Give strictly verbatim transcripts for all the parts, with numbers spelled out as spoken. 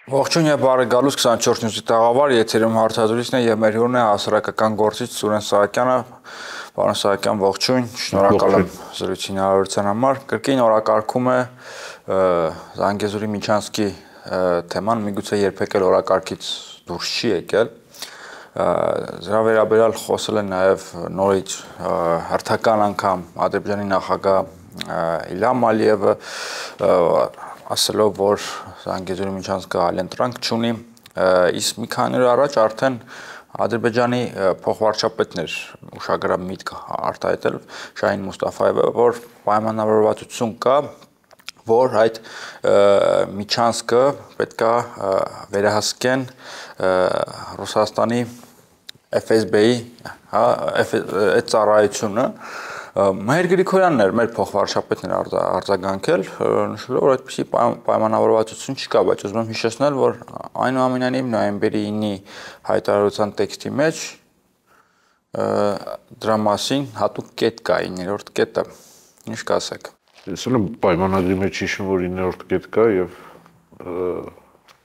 Ողջույն եւ բարեկալուս քսանչորս նյութի տաղավար եթերում հարցազրույցն է եւ մեր հյուրն է հասարակական գործիչ Սուրեն Սահակյանը։ Պարոն Սահակյան, ողջույն, շնորհակալ եմ զրույցի հնարավորության համար։ Կրկին օրակարգում է Զանգեզուրի Միչանսկի թեման, միգուցե երբեք էլ օրակարգից դուրս չի եկել։ Դրա վերաբերյալ խոսել են նաեւ նորից հերթական անգամ Ադրբեջանի նախագահ Իլհամ Ալիևը, ասելով, որ Զանգեզուրի Միչանսկը այլընտրանք չունի, իսկ մի քանի օր առաջ արդեն Ադրբեջանի փոխվարչապետն էր ուշագրավ միտք արտահայտել Շահին Մուստաֆայևը, որ պայմանավորվածություն կա, որ այդ Միչանսկը պետք է վերահսկեն Ռուսաստանի Էֆ Էս Բի-ի, հա, այդ ծառայությունը։ Մհեր Գրիգորյանն էր մեր փոխվարչապետն էր արձագանքել, նշելով, որ այդպիսի պայմանավորվածություն չկա, բայց ուզում եմ հիշեցնել, որ այնուամենայնիվ նոյեմբերի ինի հայտարարության տեքստի մեջ դրա մասին հատուկ կետ կա, իններորդ կետը։ Ինչ կասեք։ Ես էլ պայմանագրի մեջ հիշում, որ իններորդ կետ կա եւ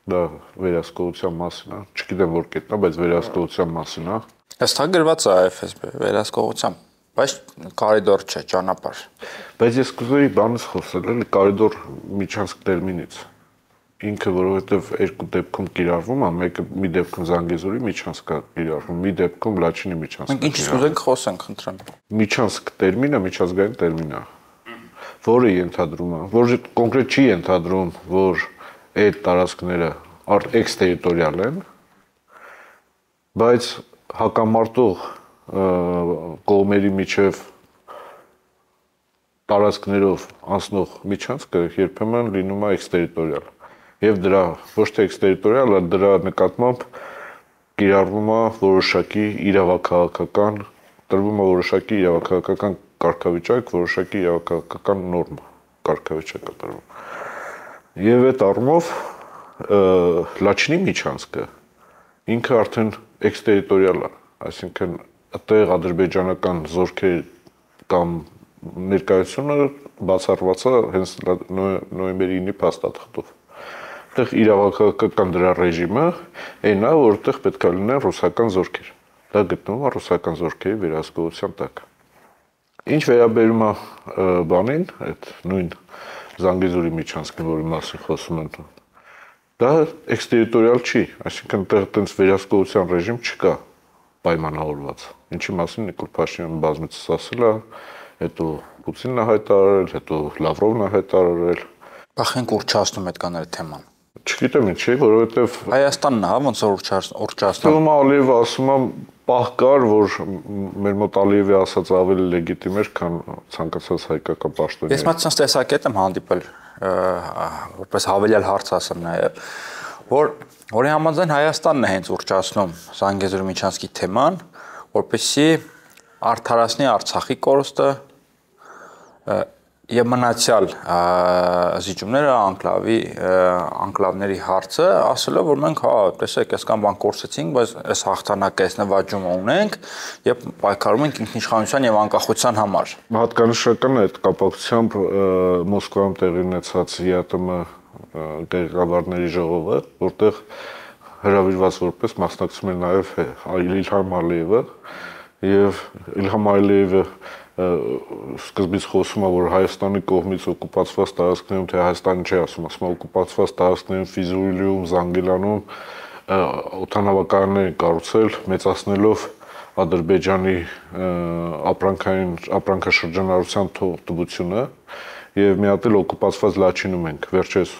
դա վերահսկողության մասին է։ Չգիտեմ որ կետն է, բայց վերահսկողության մասին է։ Հստակ գրված է Էֆ Էս Բի վերահսկողության, բայց կարիդոր չէ, ճանապարհ։ Բայց ես կուզեի բանից խոսել, էլի կարիդոր Միչանսկ տերմինից։ Ինքը որովհետեւ երկու դեպքում կիրառվում է, մեկը մի դեպքում Զանգեզուրի Միչանսկը կիրառվում, մի դեպքում Լաչինի Միչանսկը։ Մենք ինչից կուզենք խոսենք, խնդրեմ։ Միչանսկ տերմինը միջազգային տերմին է, որը ենթադրում է, որ կոնկրետ չի ենթադրում, որ այդ տարածքները էքստերիտորիալ են, բայց հակամարտող կողմերի միջև տարածքներով անցնող Միչանսկը երբեմն լինում է էքստերիտորիալ եւ դրա ոչ թե էքստերիտորիալ, այլ դրա նկատմամբ կիրառվում է որոշակի իրավաքաղաքական, տրվում է որոշակի իրավաքաղաքական կարգավիճակ, որոշակի իրավաքաղաքական նորմ կարգավիճակ է տրվում։ Եվ այդ առումով Լաչինի Միչանսկը ինքը արդեն էքստերիտորիալ է, այսինքն այդտեղ ադրբեջանական զորքեր կամ ներկայությունը բացառված է հենց նոյեմբերի ինի փաստաթղթով։ Այդտեղ իրավաքաղաքական դրա ռեժիմը այնա, որտեղ պետք է լինեն ռուսական զորքեր։ Դա գտնվում է ռուսական զորքերի վերահսկողության տակ։ Ինչ վերաբերում է բանին, այդ նույն Զանգեզուրի Միչանսկին, որի մասին խոսում են, դա էքստերիտորիալ չի, այսինքն այդտեղ տենց վերահսկողության ռեժիմ չկա պայմանավորված։ Ինչի մասին Նիկոլ Փաշինյանը բազմիցս ասել է, հետո Պուտինն է հայտարարել, հետո Լավրովն է հայտարարել։ Բախենք ուռճացնում այդ կաներ թեման։ Չգիտեմ ինչի, որովհետև Հայաստանն է, ոնց որ ուռճացնում։ Ում Ալիևը ասում է, պահ կար, որ մեր մոտ Ալիևի ասած ավելի լեգիտիմ էր, քան ցանկացած հայկական պաշտոնյա։ Ես մատչանց տեսակետ եմ հանդիպել, որպես հավելյալ հարց ասեմ նաև, որ որի համաձայն Հայաստանն է հենց ուռճացնում Զանգեզուրի Միչանսկի թեման, որպեսզի արդարացնի Արցախի կորուստը եւ մնացյալ զիջումները անկլավի անկլավների հարցը, ասելով որ մենք հա տեսեք այսքան բան կորցեցինք, բայց այս հաղթանակը, այս նվաճումը ունենք եւ պայքարում ենք ինքնիշխանության եւ անկախության համար։ Հատկանշական է այդ կապակցությամբ Մոսկվայում տեղի ունեցած ԵԱՏՄ ղեկավարների ժողովը, որտեղ հրավիրված որպես մասնակցում էր նաեւ Իլհամ Ալիևը եւ Իլհամ Ալիևը սկզբից խոսում է, որ Հայաստանի կողմից օկուպացված տարածքներում, թե Հայաստանը չի ասում, ասում է օկուպացված տարածքներում Ֆիզուլիում, Զանգիլանում օդանավակայաններ կառուցել, մեծացնելով Ադրբեջանի ապրանքային ապրանքաշրջանառության թվությունը եւ մի հատ էլ օկուպացված Լաչինում ենք, վերջերս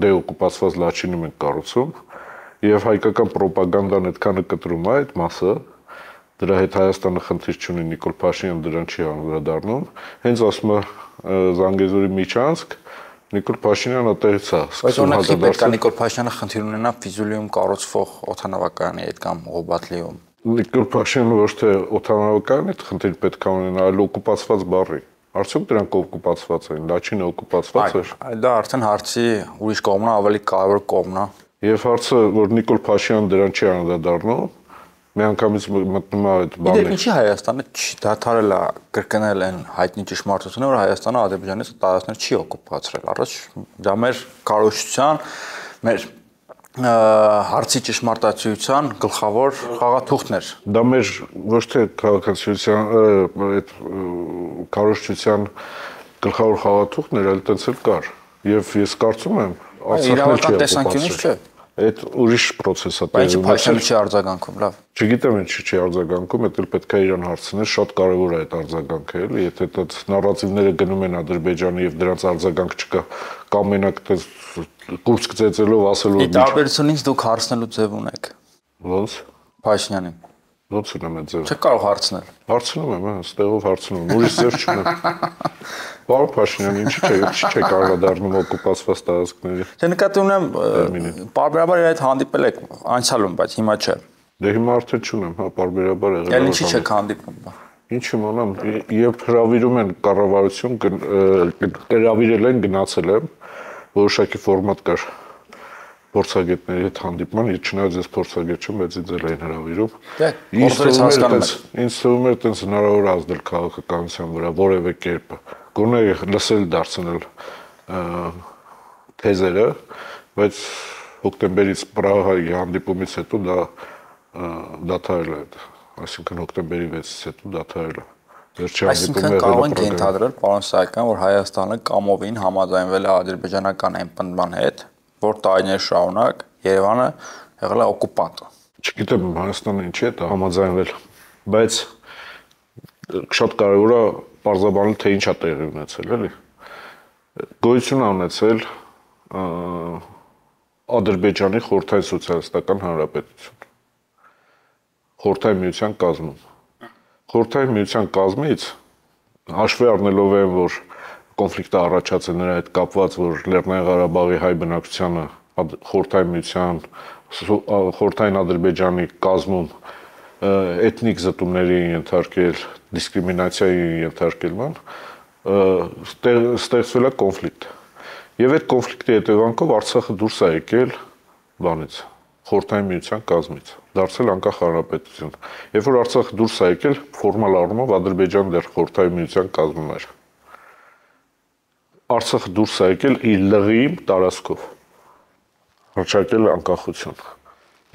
դեօկուպացված Լաչինում ենք կառուցում եւ հայկական ռոպագանդան այդքանը կտրում է այդ մասը, դրա հետ Հայաստանը խնդիր չունի, Նիկոլ Փաշինյանը դրան չի անդրադառնում, հենց ասում է Զանգեզուրի Միչանսկ, Նիկոլ Փաշինյանը այդտեղից է սկսում հաջորդել։ Բայց օրինակ Նիկոլ Փաշինյանը խնդիր ունենա Ֆիզուլիում կառուցվող օդանավակայանի հետ կամ Ղոբատլիում։ Նիկոլ Փաշինյանը ոչ թե օդանավակայանի հետ խնդիր պետք է ունենա, այլ օկուպացված բառի։ Արդյոք դրանք օկուպացված են, Լաչինը օկուպացված էր։ Դա արդեն հարցի ուրիշ կողմն է, ավելի կարևոր կողմն է։ Եվ հարցը, որ Նիկոլ Փաշինյանը դրան չի անդրադառնում, միանգամից մտնում է այդ բանը։ Իդեպ ինչի Հայաստանը դադարել է կրկնել են հայտնի ճշմարտությունը, որ Հայաստանը Ադրբեջանից տարածքներ չի օկուպացրել։ Առաջ դա մեր քարոզչության, մեր հարցի ճշմարտացիության գլխավոր խաղաթուղթն էր։ Դա մեր ոչ թե քաղաքացիության այդ քարոզչության գլխավոր խաղաթուղթն էր, այլ տենց էլ կար։ Եվ ես կարծում եմ, իրավական տեսանկյունից չէ։ Այդ ուրիշ process է տեղի ունեցել։ Բայց Փաշինյանը չի արձագանքում, լավ։ Չգիտեմ ինչի չի արձագանքում, դա էլ պետք է իրան հարցնել, շատ կարևոր է այդ արձագանքը, էլի, եթե այդ նարատիվները գնում են Ադրբեջանի եւ դրանց արձագանք չկա, կամ մենակ այդպես կուրս գծեցելով ասելով։ Ի տարբերությունից դուք հարցնելու ձև ունեք։ Ոնց։ Փաշինյանին։ Ոնց ունեմ այդ ձև։ Չեք կարող հարցնել։ Հարցնում եմ, հա, ստեղով հարցնում եմ, ուրիշ ձև չունեմ։ Պարոն Փաշինյան, ինչի՞ չէ, ինչի՞ չէ կարողադառնում օկուպացված տարածքների։ Դե նկատի ունեմ, պարբերաբար իր այդ հանդիպել եք անցյալում, բայց հիմա չէ։ Դե հիմա արդեն չունեմ, հա, պարբերաբար եղել։ Էլ ինչի՞ չեք հանդիպում։ Ինչ իմանամ, երբ հրավիրում են կառավարություն, հրավիրել են, գնացել եմ, որոշակի ֆորմատ կար փորձագետների հետ հանդիպման, իր չնայած ես փորձագետ չեմ, բայց ինձ էլ էին հրավիրում։ Ինձ թվում էր այտենց հնարավոր ազդել քաղաքականության վրա որևէ կերպ, գոնե լսել դարձնել թեզերը, բայց հոկտեմբերից Պրահայի հանդիպումից հետո դա դադարել է, այսինքն հոկտեմբերի վեցից հետո դադարել է։ Այսինքն կարող ենք ենթադրել, պարոն Սահակյան, որ Հայաստանը կամովին համաձայնվել է ադրբեջանական էմպնդման հետ, որ տարիներ շարունակ Երևանը եղել է օկուպանտ։ Չգիտեմ Հայաստանը ինչի է դա համաձայնվել, բայց շատ կարևոր է պարզաբանել, թե ինչ է տեղի ունեցել, էլի։ Գոյություն է ունեցել Ադրբեջանի Խորհրդային Սոցիալիստական Հանրապետություն, Խորհրդային Միության կազմում։ Խորհրդային Միության կազմից հաշվի առնելով են, որ կոնֆլիկտը առաջացել նրա հետ կապված, որ Լեռնային Ղարաբաղի հայ բնակչությանը Խորհրդային Միության, Խորհրդային Ադրբեջանի կազմում էթնիկ զտումների ենթարկել, դիսկրիմինացիայի ենթարկելման, ստեղծվել է կոնֆլիկտ։ Եվ այդ կոնֆլիկտի հետևանքով Արցախը դուրս է եկել բանից, Խորհրդային Միության կազմից, դարձել անկախ հանրապետություն։ Երբ որ Արցախը դուրս է եկել, ֆորմալ առումով Ադրբեջանը դեռ Խորհրդային Միության կազմում էր։ Արցախը դուրս է եկել իր լղիմ տարածքով, հռչակել անկախություն։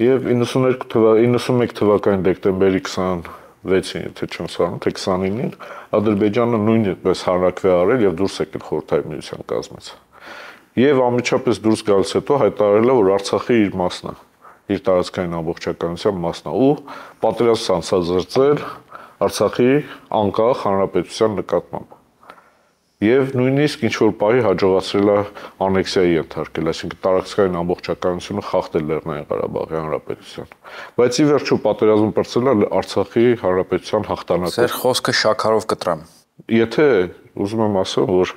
Եվ իննսունմեկ թվականի դեկտեմբերի քսանվեցին, եթե չեմ սխալվում, թե քսանինին Ադրբեջանը նույնպես հանրաքվե արել եւ դուրս եկել Խորհրդային Միության կազմից։ Եվ անմիջապես դուրս գալուց հետո հայտարարել է, որ Արցախը իր մասն է, իր տարածքային ամբողջականության մասն է ու պատերազմ սանձազերծել Արցախի անկախ հանրապետության նկատմամբ։ Եվ նույնիսկ ինչ-որ պահի հաջողացրել է անեքսիայի ենթարկել, այսինքն տարածքային ամբողջականությունը խախտել Լեռնային Ղարաբաղի հանրապետության։ Բայց ի վերջո պատերազմը բրցել է Արցախի հանրապետության հաղթանակով։ Ձեր խոսքը շաքարով կտրամ։ Եթե ուզում եմ ասել, որ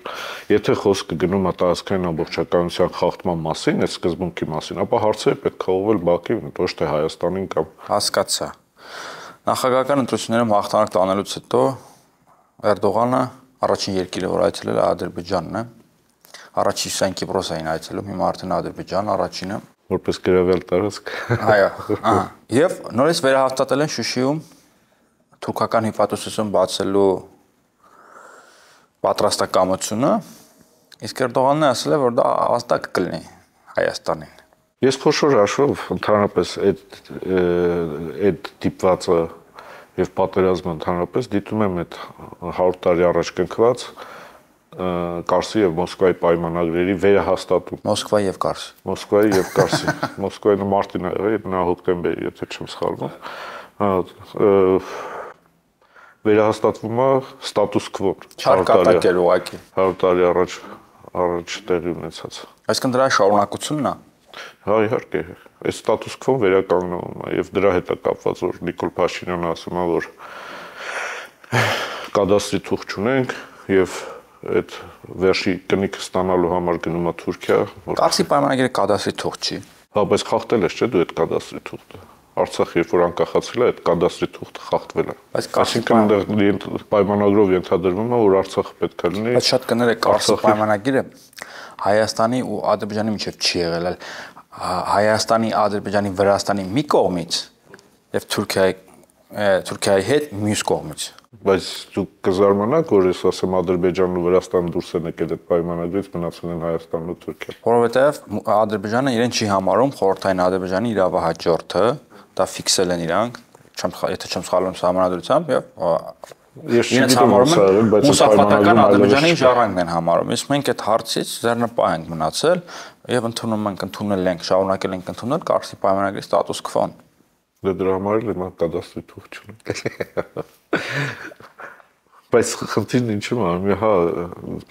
եթե խոսքը գնում է տարածքային ամբողջականության խախտման մասին, այդ սկզբունքի մասին, ապա հարցերը պետք է ուղղել Բաքվին, ոչ թե Հայաստանին կամ։ Հասկացա։ Նախագահական ընտրություններում հաղթանակ տանելուց հետո Էրդողանը առաջին երկիրը, որ այցելել է Ադրբեջանն է, առաջին Սեն Կիպրոսային այցելում, հիմա արդեն Ադրբեջան առաջինը։ Որպես գրավել տարածք։ Այո, ահա։ Եվ նորից վերահաստատել են Շուշիում թուրքական հիպատոսություն բացելու պատրաստակամությունը, իսկ Էրդողանն ասել է, որ դա հաստատ կլինի Հայաստանին։ Ես խոշոր հաշվով ընդհանրապես այդ այդ դիպվածը եւ պատերազմը ընդհանրապես դիտում եմ այդ հարյուր տարի առաջ կնքված Կարսի եւ Մոսկվայի պայմանագրերի վերահաստատում։ Մոսկվայի եւ Կարսի։ Մոսկվայի եւ Կարսի։ Մոսկվայի մարտին եղել, նա հոկտեմբերի, եթե չեմ սխալվում։ Վերահաստատվում է ստատուս քվոն։ Չարկատակ էր ուղղակի։ հարյուր տարի առաջ առաջ տեղի ունեցած։ Այսինքն դրա շարունակությունն է։ Հա, իհարկե, այս ստատուս քվոն վերականգնվում է եւ դրա հետ է կապված, որ Նիկոլ Փաշինյանը ասում է, որ կադաստրի թուղթ չունենք եւ այդ վերջի կնիքը ստանալու համար գնում է Թուրքիա։ Կարսի պայմանագիրը կադաստրի թուղթ չի։ Հա, բայց խախտել ես, չէ՞ դու այդ կադաստրի թուղթը։ Արցախը երբ որ անկախացել է, այդ կադաստրի թուղթը խախտվել է։ Այսինքն այնտեղ պայմանագրով ենթադրվում է, որ Արցախը պետք է լինի։ Բայց շատ կներ է Կարսի պայմանագիրը Հայաստանի ու Ադրբեջանի միջև չի եղել, այլ Հայաստանի, Ադրբեջանի, Վրաստանի մի կողմից եւ Թուրքիայի Թուրքիայի հետ մյուս կողմից։ Բայց դուք կզարմանաք, որ ես ասեմ Ադրբեջանն ու Վրաստանը դուրս են եկել այդ պայմանագրից, մնացել են Հայաստանն ու Թուրքիան։ Որովհետև Ադրբեջանը իրեն չի համարում խորհրդային Ադրբեջանի իրավահաջորդը, դա ֆիքսել են իրանք, եթե չեմ սխալվում սահմանադրությամբ եւ Ես չգիտեմ ոնց է, բայց մուսաֆատական Ադրբեջանի ժառանգն են համարում։ Իսկ մենք այդ հարցից ձեռնպահ ենք մնացել եւ ընդունում ենք, ընդունել ենք, շարունակել ենք ընդունել Կարսի պայմանագրի ստատուս քվոն։ Դե դրա համար էլ մենք կադաստրի թուղթ չունենք։ Բայց խնդիրն ինչու՞ է, հա,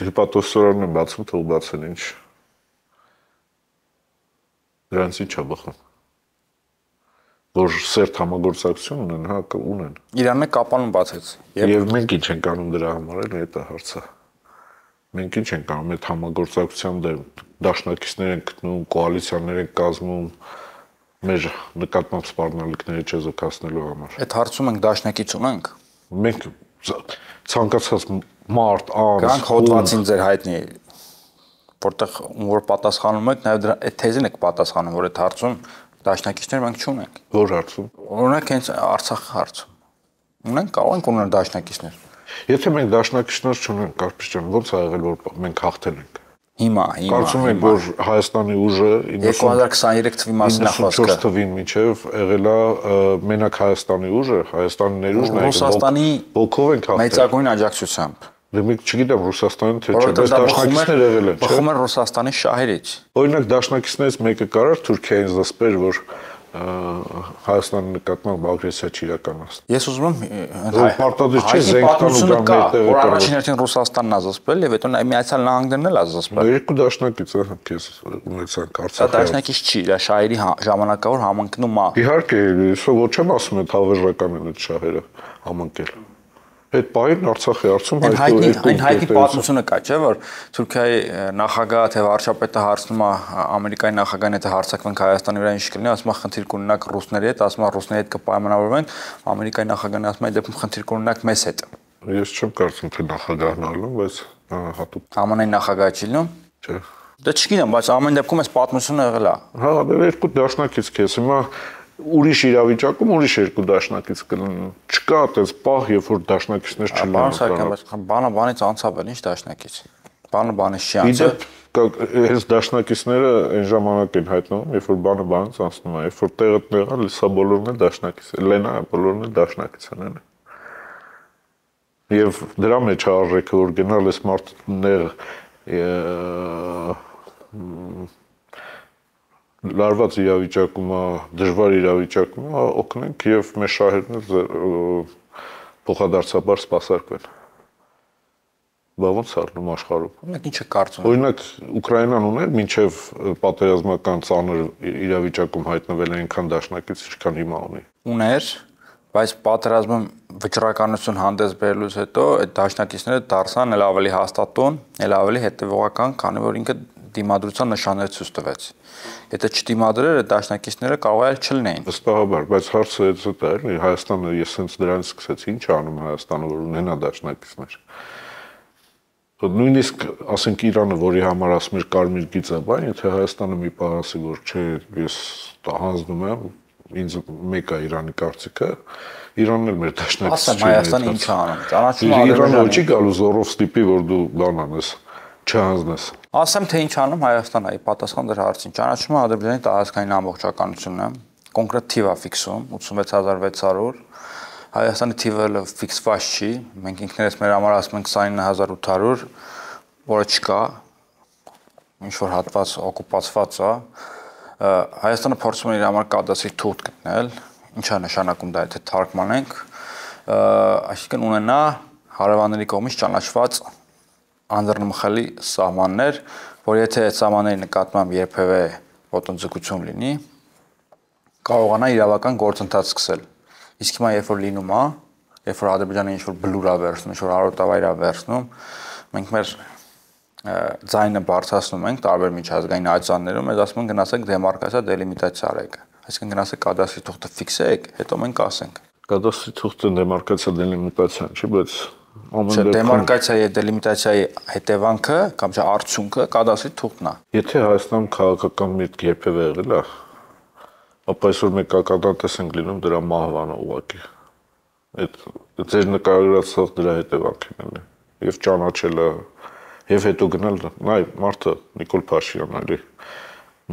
հիպատոսորարն են բացում, թող բացեն ինչ։ Դրանց ինչ է բխում։ Որ սերտ համագործակցություն ունեն, հա, ունեն։ Իրանը կապանում բացեց։ Եվ մենք ինչ ենք անում դրա համար, էլ դա հարցը։ Մենք ինչ ենք անում այդ համագործակցության դեմ, դաշնակիցներ են գտնում, կոալիցիաներ են կազմում, մեր նկատմամբ սպառնալիքները չեզոքացնելու համար։ Այդ հարցում ենք դաշնակից ունենք։ Մենք ցանկացած մարդ, անձ, Գանք հոդվածին ձեր հայտնի, որտեղ որ պատասխանում եք, նաև դրա այդ թեզին եք պատասխանում, որ այդ հարցում դաշնակիցներ մենք չունենք։ Որ հարցում։ Օրինակ հենց Արցախի հարցում։ Ունենք, կարող ենք ունենալ դաշնակիցներ։ Եթե մենք դաշնակիցներ չունենք, Կարպետ ջան, ո՞նց է եղել, որ մենք հաղթել ենք։ Հիմա, հիմա։ Կարծում եք, որ Հայաստանի ուժը երկու հազար քսաներեք թվի մասին է խոսքը։ իննսունչորս թվին մինչև եղել է մենակ Հայաստանի ուժը, Հայաստանի ներուժն է, Ռուսաստանի ոգով ենք հաղթել։ մեծագույն աջակցությամբ։ Դե մենք չգիտեմ Ռուսաստանը թե չէ, բայց դաշնակիցներ եղել են, չէ՞։ Բխում են Ռուսաստանի շահերից։ Օրինակ դաշնակիցներից մեկը կարար Թուրքիային զսպեր, որ Հայաստանի նկատմամբ ագրեսիա չիրականացնի։ Ես ուզում եմ պարտադիր չէ զենք տան ու գան մեկտեղ որ առաջին հերթին Ռուսաստանն է զսպել եւ հետո Միացյալ Նահանգներն էլ է զսպել։ Երկու դաշնակից է քեզ ունեցանք Արցախի։ Դա դաշնակից չի, դա շահերի ժամանակավոր համընկնում է։ Իհարկե, ես ոչ եմ ասում այդ հավերժական են այդ շահերը համընկել։ Այդ պահին Արցախի հարցում հայտնի այն հայտնի պատմությունը կա, չէ՞ որ Թուրքիայի նախագահը թե վարչապետը հարցնում է Ամերիկայի նախագահին, եթե հարցակվենք Հայաստանի վրա ինչ կլինի, ասում է խնդիր կունենաք ռուսների հետ, ասում է ռուսների հետ կպայմանավորվենք, Ամերիկայի նախագահն ասում է այդ դեպքում խնդիր կունենաք մեզ հետ։ Ես չեմ կարծում թե նախագահն ալում, բայց հատուկ ԱՄՆ-ի նախագահը չի լինում։ Չէ։ Դա չգիտեմ, բայց ամեն դեպքում այս պատմությունը եղել է։ Հա, դե երկու դաշնակից քեզ հիմա ուրիշ իրավիճակում ուրիշ երկու դաշնակից կլինեն։ Չկա այդպես պահ, երբ որ դաշնակիցներ չլինեն։ Բան սարքան, բայց բանը բանից անցավ էլ, ինչ դաշնակից։ Բանը բանից չի անցել։ Այս դաշնակիցները այն ժամանակ են հայտնվում, երբ որ բանը բանից անցնում է, երբ որ տեղը տեղա լսա բոլորն էլ դաշնակից են, Լենա բոլորն էլ դաշնակից են։ Եվ դրա մեջ է արժեքը, որ գնալ այս մարդներ լարված իրավիճակում, դժվար իրավիճակում օգնենք եւ մեր շահերն փոխադարձաբար սպասարկվեն։ Բա ոնց առնում աշխարհում։ Օրինակ ինչ է կարծում։ Օրինակ Ուկրաինան ուներ մինչև պատերազմական ծանր իրավիճակում հայտնվել այնքան դաշնակից, ինչքան հիմա ունի։ Ուներ, բայց պատերազմում վճռականություն հանդես բերելուց հետո այդ դաշնակիցները դարձան էլ ավելի հաստատուն, էլ ավելի հետևողական, քանի որ ինքը դիմադրության նշաններ ցույց տվեց։ Եթե չդիմադրեր, այդ դաշնակիցները կարող է չլինեին։ Վստահաբար, բայց հարցը այդ է, էլի Հայաստանը ես հենց դրանից սկսեցի, ինչ անում Հայաստանը, որ ունենա դաշնակիցներ։ Նույնիսկ ասենք Իրանը, որի համար ասում էր կարմիր գիծը, բան, եթե Հայաստանը մի պահ ասի, որ չէ, ես հանձնում եմ, ինձ մեկ է Իրանի կարծիքը, Իրանն էլ մեր դաշնակիցն է։ Ասեմ Հայաստանը ինչ է անում։ Ճանաչում Իրանը ոչ չի գալու զորով ստիպի, որ դու բան անես, չհանձնես։ Ասեմ թե ինչ անում Հայաստանը, ի պատասխան դրա հարցին։ Ճանաչումը Ադրբեջանի տարածքային ամբողջականությունն է, կոնկրետ թիվ է ֆիքսում ութսունվեց հազար վեց հարյուր։ Հայաստանի թիվը ֆիքսված չի, մենք ինքներս մեր համար ասում ենք քսանինը հազար ութ հարյուր, որը չկա, ինչ որ հատված օկուպացված է։ Հայաստանը փորձում է իր համար կադաստրի թուղթ գտնել, ինչ է նշանակում դա, եթե թարգմանենք, այսինքն ունենա հարևանների կողմից ճանաչված անդրնմխելի սահմաններ, որ եթե այդ սահմանների նկատմամբ երբևէ ոտնձգություն լինի, կարողանա իրավական գործընթաց սկսել։ Իսկ հիմա երբ որ լինում է, երբ որ Ադրբեջանը ինչ-որ բլուր է վերցնում, ինչ-որ հարոտավայր է վերցնում, մենք մեր ձայնը բարձրացնում ենք տարբեր միջազգային աջաններում, ես ասում եմ գնացեք դեմարկացիա դելիմիտացիա արեք։ Այսինքն գնացեք կադաստրի թուղթը ֆիքսեք, հետո մենք ասենք։ Կադաստրի թուղթը դեմարկացիա դելիմիտացիան չի, բայց Չէ, դեմարկացիայի եւ դելիմիտացիայի հետևանքը կամ չէ արդյունքը կադաստրի թուղթն է։ Եթե Հայաստանում քաղաքական միտք երբևէ եղել է, ապա այսօր մենք ակադատես ենք լինում դրա մահվանը ուղղակի։ Այդ ձեր նկարագրածը դրա հետևանքն է։ Եվ ճանաչելը, եւ հետո գնալ, նայ, մարդը Նիկոլ Փաշինյանն էլի,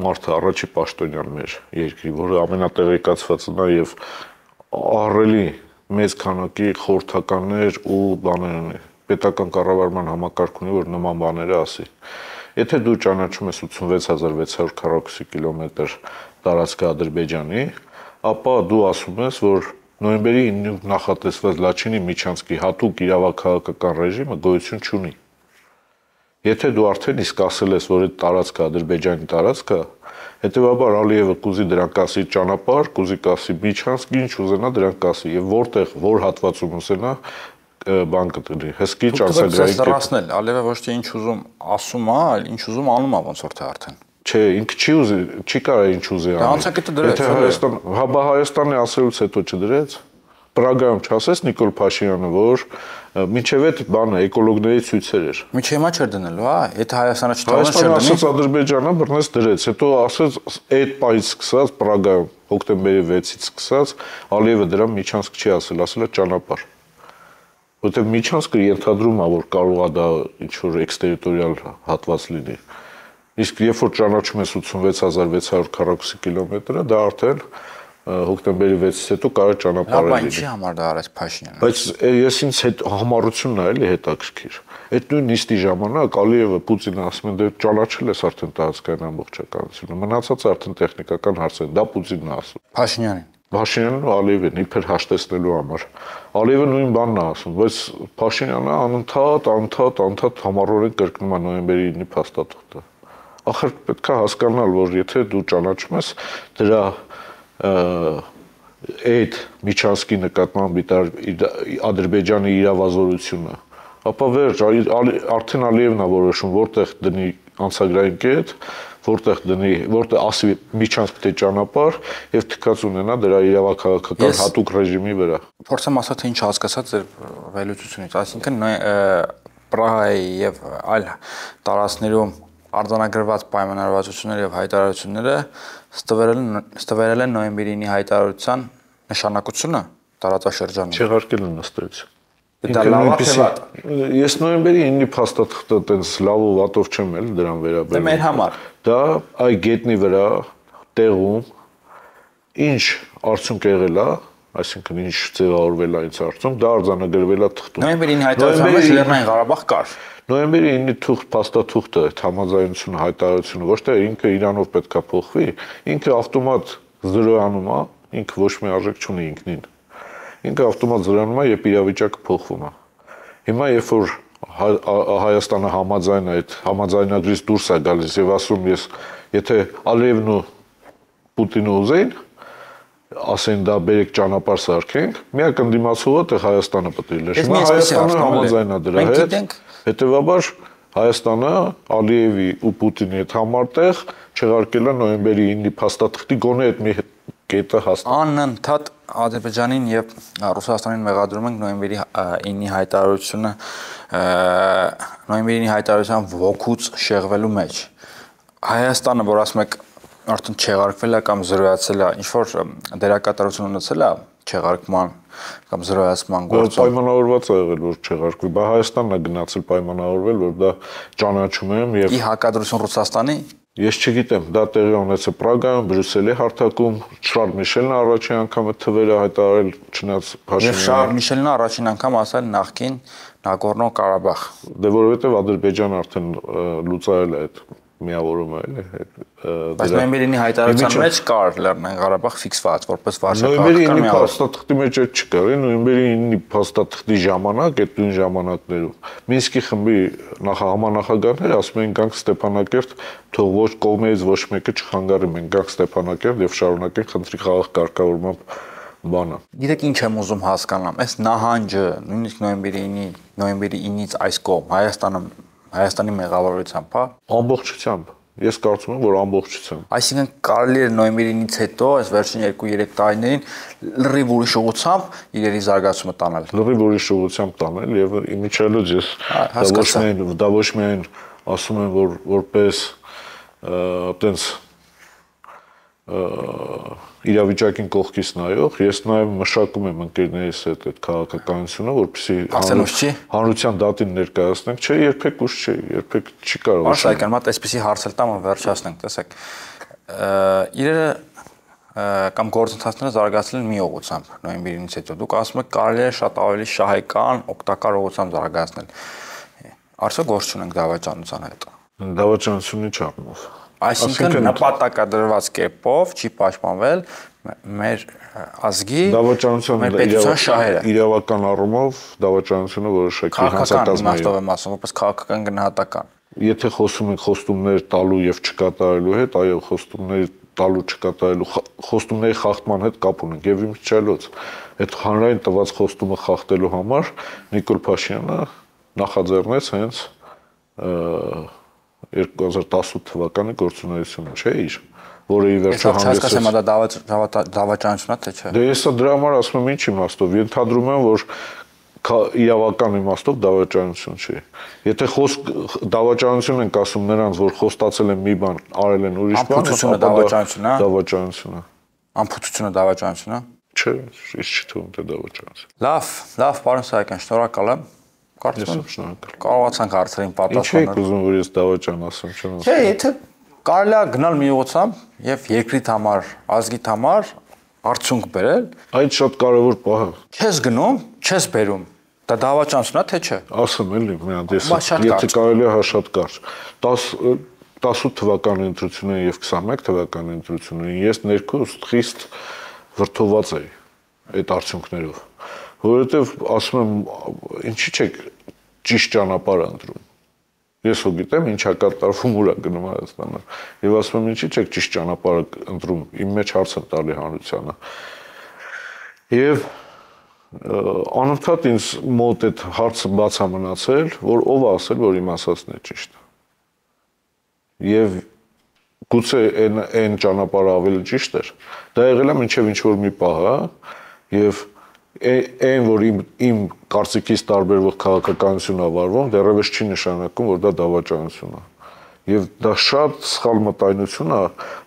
մարդը առաջի պաշտոնյան մեր երկրի, որը ամենատեղեկացվածն է եւ ահռելի մեծ քանակի խորհրդականներ ու բաներ ունի։ Պետական կառավարման համակարգ ունի, որ նման բաները ասի։ Եթե դու ճանաչում ես ութսունվեց հազար վեց հարյուր քառակուսի կիլոմետր տարածքը Ադրբեջանի, ապա դու ասում ես, որ նոյեմբերի ինը նախատեսված Լաչինի Միչանսկի հատուկ իրավաքաղաքական ռեժիմը գոյություն չունի։ Եթե դու արդեն իսկ ասել ես, որ այդ տարածքը Ադրբեջանի տարածքը, հետեւաբար Ալիևը կուզի դրանք ասի ճանապարհ, կուզի ասի Միչանսկ, ինչ ուզենա դրանք ասի, եւ որտեղ որ հատվածում ուզենա բան կտրի, հսկի ճանցագրային կետ։ Դրասնել, Ալիևը ոչ թե ինչ ուզում ասում է, այլ ինչ ուզում անում է ոնց որ թե արդեն։ Չէ, ինքը չի ուզի, չի կարող ինչ ուզի անի։ Դա անցակետը դրեց։ Եթե Հայաստան, հա բա Հայաստանի ասելուց հետո չդրեց։ Պրագայում չասես Նիկոլ Փաշինյանը, որ մինչև այդ բանը էկոլոգների ցույցեր էր։ Միջի հիմա չէր դնելու, հա, եթե Հայաստանը չթողնես չէր դնի։ Հայաստանը ասաց Ադրբեջանը բռնես դրեց, հետո ասաց այդ պայից սկսած Պրագայում հոկտեմբերի վեցից սկսած Ալիևը դրա Միչանսկ չի ասել, ասել է ճանապարհ։ Որտեղ Միչանսկը ենթադրում է, որ կարող է դա ինչ որ էքստերիտորիալ հատված լինի։ Իսկ երբ որ ճանաչում ես ութսունվեց հազար վեց հարյուր քառակուսի կիլոմետրը, դա արդեն հոկտեմբերի վեցից հետո կարող է ճանապարհ լինի։ Բայց ինչի համար դա արեց Փաշինյանը։ Բայց ես ինձ հետ համառությունն է էլի հետաքրքիր։ Այդ նույն նիստի ժամանակ Ալիևը Պուտինը ասում են դե ճանաչել ես արդեն տարածքային ամբողջականությունը։ Մնացածը արդեն տեխնիկական հարց է, դա Պուտինն է ասում։ Փաշինյանին։ Փաշինյանն ու Ալիևին իբր հաշտեցնելու համար։ Ալիևը նույն բանն է ասում, բայց Փաշինյանը անընդհատ, անընդհատ, անընդհատ համառորեն կրկնում է նոյեմբերի ինը փաստաթղթը։ Ախր պետք է հասկանալ, որ եթե դու ճանաչում ես դրա այդ Միչանսկի նկատմամբ Ադրբեջանի իրավազորությունը, ապա վերջ, արդեն Ալիևն է որոշում, որտեղ դնի անցագրային կետ, որտեղ դնի, որտեղ ասի Միչանսկ թե ճանապարհ եւ թքած ունենա դրա իրավաքաղաքական հատուկ ռեժիմի վրա։ Փորձեմ ասել, թե ինչ հասկացած ձեր վերլուծությունից, այսինքն Պրահայի եւ այլ տարածքներում արձանագրված պայմանավորվածությունները եւ հայտարարությունները ստվերել են նոյեմբերի ինի հայտարարության նշանակությունը տարածաշրջանում։ Չեղարկել են ըստ Դա լավ է թե վատ։ Ես նոյեմբերի ինը փաստաթղթը տենց լավ ու վատով չեմ էլ դրան վերաբերում։ Դա մեր համար։ Դա այ գետնի վրա տեղում ինչ արդյունք եղել է, այսինքն ինչ ձևավորվել է այս արդյունք, դա արձանագրվել է թղթում։ Նոյեմբերի ինը հայտարարության մեջ Լեռնային Ղարաբաղ կար։ Նոյեմբերի ինը թուղթ փաստաթուղթը, այդ համաձայնությունը, հայտարարությունը ոչ թե ինքը իրանով պետքա փոխվի, ինքը ավտոմատ զրոյանում է, ինքը ոչ մի արժեք չունի ինքնին։ Ինքը ավտոմատ զրոյանում է, երբ իրավիճակը փոխվում է։ Հիմա երբ որ Հայաստանը համաձայն է, այդ համաձայնագրից դուրս է գալիս եւ ասում ես, եթե Ալիևն ու Պուտինը ուզեին, ասեն դա բերեք ճանապարհ սարքենք, միակ ընդդիմացողը թե Հայաստանը պետք է լինի։ Հիմա Հայաստանը համաձայն է դրա հետ։ Հետևաբար Հայաստանը Ալիևի ու Պուտինի հետ համատեղ չեղարկել է նոյեմբերի ինը փաստաթղթի գոնե այդ մի կետը հաստատ։ Անընդհատ Ադրբեջանին եւ Ռուսաստանին մեղադրում ենք նոյեմբերի ինի հայտարարությունը նոյեմբերի ինի հայտարարության ոգուց շեղվելու մեջ։ Հայաստանը, որ ասում եք արդեն չեղարկվել է կամ զրոյացել է, ինչ որ դերակատարություն ունեցել է չեղարկման կամ զրոյացման գործում։ Պայմանավորված է եղել, որ չեղարկվի, բայց Հայաստանն է գնացել պայմանավորվել, որ դա ճանաչում եմ եւ ի հակադրություն Ռուսաստանի։ Ես չգիտեմ, դա տեղի ունեցել Պրագայում, Բրյուսելի հարթակում, Շարլ Միշելն առաջին անգամ այդ թվերը հայտարարել, չնայած Փաշինյանը։ Եվ Շարլ Միշելն առաջին անգամ ասել նախքին Նագորնո Ղարաբաղ։ Դե որովհետեւ Ադրբեջանը արդեն լուծարել է այդ միավորումը, էլի։ Բայց նոյեմբերի ինի հայտարարության մեջ կար Լեռնային Ղարաբաղ ֆիքսված, որպես վարչակարգական միավոր։ Նոյեմբերի ինը փաստաթղթի մեջ չկար, նոյեմբերի ինը փաստաթղթի ժամանակ, այդ նույն ժամանակներում Մինսկի խմբի նախահամանախագահները ասում են գանք Ստեփանակերտ, թող ոչ կողմերից ոչ մեկը չխանգարի, մենք գանք Ստեփանակերտ եւ շարունակենք խնդրի խաղաղ կարգավորմամբ բանը։ Գիտեք ինչ եմ ուզում հասկանամ, այս նահանջը նույնիսկ նոյեմբերի ինի, նոյեմբերի ինից այս կողմ Հայաստանը Հայաստանի մեղավորությամբ, հա, ամբողջությամբ։ Ես կարծում եմ, որ ամբողջությամբ։ Այսինքն կարելի է նոյեմբերի ինից հետո, այս վերջին երկու-երեք տարիներին լրիվ ուրիշ ուղղությամբ իրերի զարգացումը տանել։ Լրիվ ուրիշ ուղղությամբ տանել եւ իմիջիալոց ես դա ոչ միայն դա ոչ միայն ասում եմ, որ որպես այտենց իրավիճակին կողքից նայող, ես նաև մշակում եմ ընկերներիս հետ այդ քաղաքականությունը, որպեսզի հանրության դատին ներկայացնենք, չէ, երբեք ուշ չէ, երբեք չի կարող։ Արշակյան, մատ այսպեսի հարցել տամ ու վերջացնենք, տեսեք։ Իրերը կամ գործընթացները զարգացել են մի ուղղությամբ, նոյեմբերից հետո։ Դուք ասում եք կարելի է շատ ավելի շահեկան, օգտակար ուղղությամբ զարգացնել։ Արդյոք գործ չունենք դավաճանության հետ։ Դավաճանությունը չառնով։ Այսինքն նպատակադրված կերպով չի պաշտպանվել մեր ազգի մեր պետության շահերը։ Իրավական առումով դավաճանությունը որոշակի հանցակազմի է։ Եմ ասում, որպես քաղաքական գնահատական։ Եթե խոսում ենք խոստումներ տալու եւ չկատարելու հետ, այո, խոստումներ տալու չկատարելու խոստումների խախտման հետ կապ ունենք եւ իմիջիայլոց այդ հանրային տված խոստումը խախտելու համար Նիկոլ Փաշինյանը նախաձեռնեց հենց երկու հազար տասութ թվականի գործունեությունը, չէ՞ իր, որը ի վերջո հանդես է։ Դա դավաճանությունն է, թե չէ։ Դե ես դրա համար ասում եմ ինչ իմաստով, ենթադրում եմ, որ իրավական իմաստով դավաճանություն չի։ Եթե խոսք դավաճանություն ենք ասում նրանց, որ խոստացել են մի բան, արել են ուրիշ բան, ապա դավաճանություն է։ Դավաճանություն է։ Անփութությունը դավաճանություն է։ Չէ, ես չի թվում թե դավաճանություն։ Լավ, լավ, պարոն Սահակյան, շնորհակալ եմ։ Կարծում եմ կարողացանք հարցերին պատասխանել։ Ինչ եք ուզում, որ ես դավաճան ասեմ, չեմ ասում։ Չէ, եթե կարելի է գնալ մի ուղղությամբ եւ երկրիդ համար, ազգիդ համար արդյունք բերել, այդ շատ կարևոր պահ է։ Չես գնում, չես բերում։ Դա դավաճանություն է, թե չէ։ Ասեմ էլի, մի հատ ես եթե կարելի է հա շատ կարճ։ տասութ թվականի ընտրությունները եւ քսանմեկ թվականի ընտրությունները ես ներքուս խիստ վրդոված էի այդ արդյունքներով, որովհետեւ ասում եմ, ինչի՞ չեք ճիշտ ճանապարհ ընտրում։ Ես ու գիտեմ ինչա կատարվում ուրա գնում Հայաստանը եւ ասում եմ ինչի՞ չեք ճիշտ ճանապարհը ընտրում, իմ մեջ հարց եմ տալի հանրությանը։ Եվ անընդհատ ինձ մոտ այդ հարցը բաց է մնացել, որ ով է ասել, որ իմ ասածն է ճիշտ։ Եվ գուցե այն այն ճանապարհը ավելի ճիշտ էր։ Դա եղել է մինչև ինչ որ մի պահ, եւ այն որ իմ իմ կարծիքից տարբերվող քաղաքականություն է վարվում, դեռևս չի նշանակում, որ դա դավաճանություն է։ Եվ դա շատ սխալ մտայնություն է,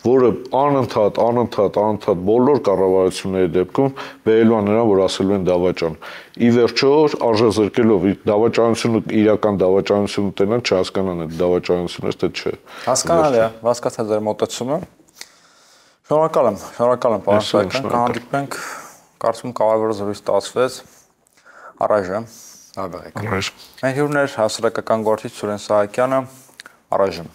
որը անընդհատ, անընդհատ, անընդհատ բոլոր կառավարությունների դեպքում բերելու է նրան, որ ասելու են դավաճան։ Ի վերջո արժեզրկելով դավաճանությունը իրական դավաճանություն ուտենան, չհասկանան այդ դավաճանությունը թե չէ։ Հասկանալի է, հասկացա ձեր մոտեցումը։ Շնորհակալ եմ, շնորհակալ եմ, պարոն Սահակյան, կհանդիպենք, կարծում եմ կարևոր զրույց ստացվեց։ Առայժմ, լավ եղեք։ Առայժմ։ Մեր հյուրն էր հասարակական գործիչ Սուրեն Սահակյանը, առայժմ